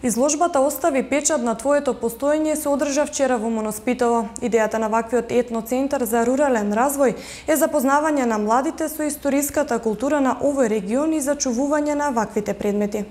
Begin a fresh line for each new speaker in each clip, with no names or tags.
Изложбата "Остави печат на твоето постоење" се одржа вчера во Моноспитово. Идејата на ваквиот етноцентар за рурален развој е запознавање на младите со историската култура на овој регион и зачувување на ваквите предмети.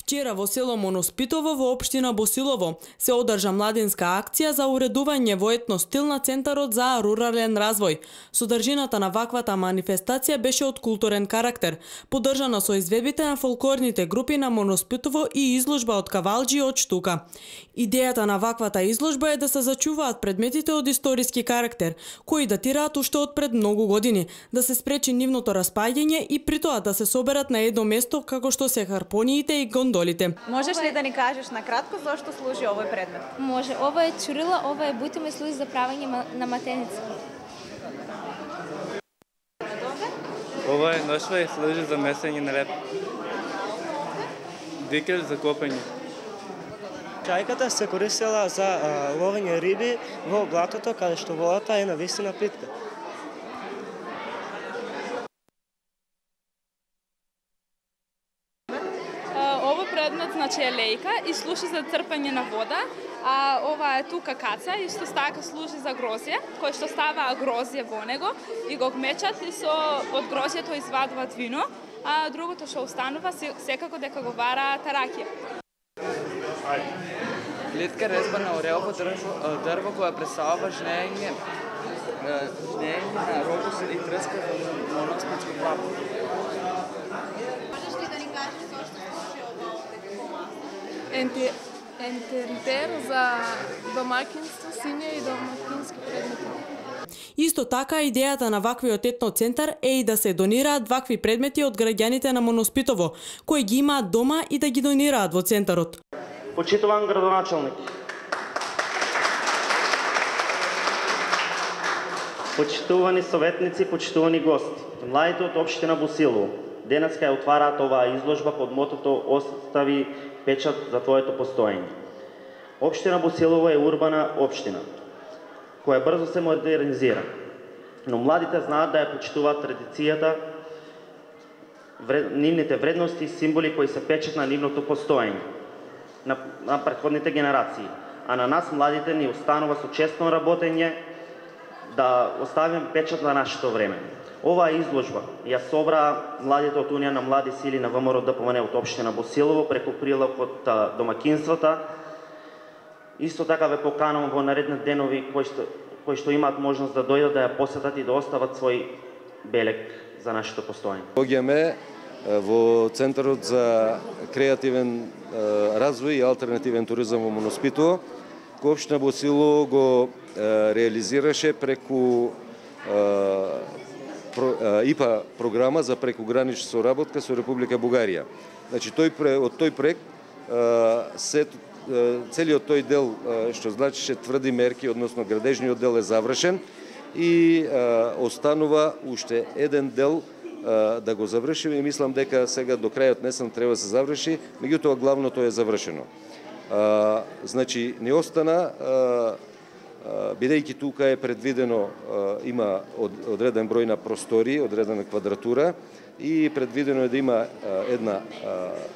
Вчера во село Моноспитово во општина Босилово се одржа младинска акција за уредување во етно стил на Центарот за рурален развој. Содржината на ваквата манифестација беше од културен карактер, поддржана со изведбите на фолклорните групи на Моноспитово и изложба од кавалџи и од штука. Идејата на ваквата изложба е да се зачуваат предметите од историски карактер, кои датираат уште од пред многу години, да се спречи нивното распаѓање и притоа да се соберат на едно место како што се харпониите и гондолите.
Можеш ли да ни кажеш накратко зошто служи овој предмет?
Може. Ова е чурила, ова е бутима и служи за правење на матеници.
Ова е ношва и служи за месење на реп. Дикел за копање.
Чајката се користела за ловење риби во блатото, каде што водата е навистина плитка.
Предмет значи е лејка и служи за црпање на вода, а ова е тука каца и исто така служи за грозје, кој што става грозје во него и го мечат и од грозјето извадуваат вино, а другото што останува секако дека го вара таракија.
Плитка резба на орелово дрво која представува жнење на рогус и трска во Моноспитско плато.
Ентеритер за домакинство, сиња и домакински предмети.
Исто така, идејата на ваквиот етноцентар е и да се донираат вакви предмети од граѓаните на Моноспитово, кои ги имаат дома и да ги донираат во центарот.
Почитуван градоначалник, почитувани советници, почитувани гости, младите од општина Босилово, денеска ја отвараат оваа изложба под мотото "Остави печат за твоето постоење". Општина Босилово е урбана општина, која брзо се модернизира, но младите знаат да ја почитуваат традицијата, нивните вредности и символи кои се печат на нивното постоење, на претходните генерации. А на нас, младите, ни останува со честно работење да оставим печат на нашето време. Оваа изложба ја собраа младите од Унија на млади сили на ВМРО ДПМН од општина Босилово преку прилог од домакинствата. Исто така ве поканувам во наредни денови кои што имаат можност да дојдат да ја посетат и да остават свој белег за нашето постоење.
Доаѓаме во Центарот за креативен развој и алтернативен туризам во Моноспитово, кој општина Босилово го реализираше преку ИПА програма за прекогранична соработка со Република Бугарија. Значи од тој проект целиот тој дел што значише тврди мерки, односно градежниот дел е завршен и останува уште еден дел да го завршиме и мислам дека сега до крајот несен треба да се заврши, меѓутоа главното е завршено. Значи не остана, бидејќи тука е предвидено, има одреден број на простори, одредена квадратура и предвидено е да има една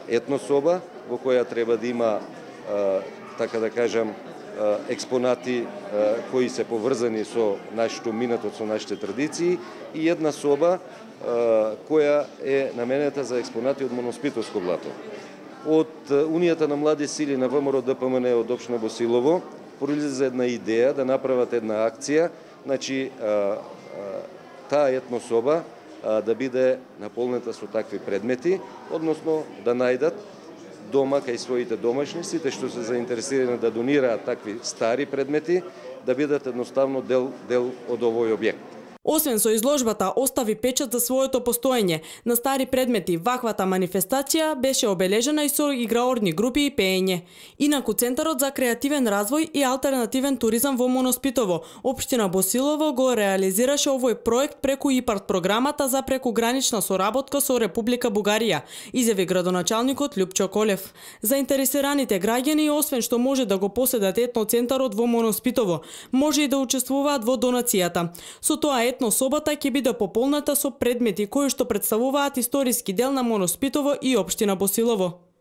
етнособа во која треба да има, така да кажам, експонати кои се поврзани со нашето минато, со нашите традиции и една соба која е наменета за експонати од Моноспитовско блато. Од Унијата на млади сили на ВМРО ДПМН од општина Босилово произлезе една идеја да направат една акција, значи таа етнособа да биде наполнета со такви предмети, односно да најдат дома кај своите домашни, сите што се заинтересирани да донираат такви стари предмети, да бидат едноставно дел од овој објект.
Освен со изложбата "Остави печат за своето постоење" на стари предмети, ваквата манифестација беше обележена и со играорни групи и пеење. Инаку Центарот за креативен развој и алтернативен туризам во Моноспитово, општина Босилово го реализираше овој проект преку ИПАРТ програмата за прекогранична соработка со Република Бугарија, изјави градоначалникот Љупчо Колев. Заинтересираните граѓани, освен што може да го поседат етноцентарот во Моноспитово, може и да учествуваат во донацијата. Со тоа етно собота ќе биде пополната со предмети кои што представуваат историски дел на Моноспитово и општина Босилово.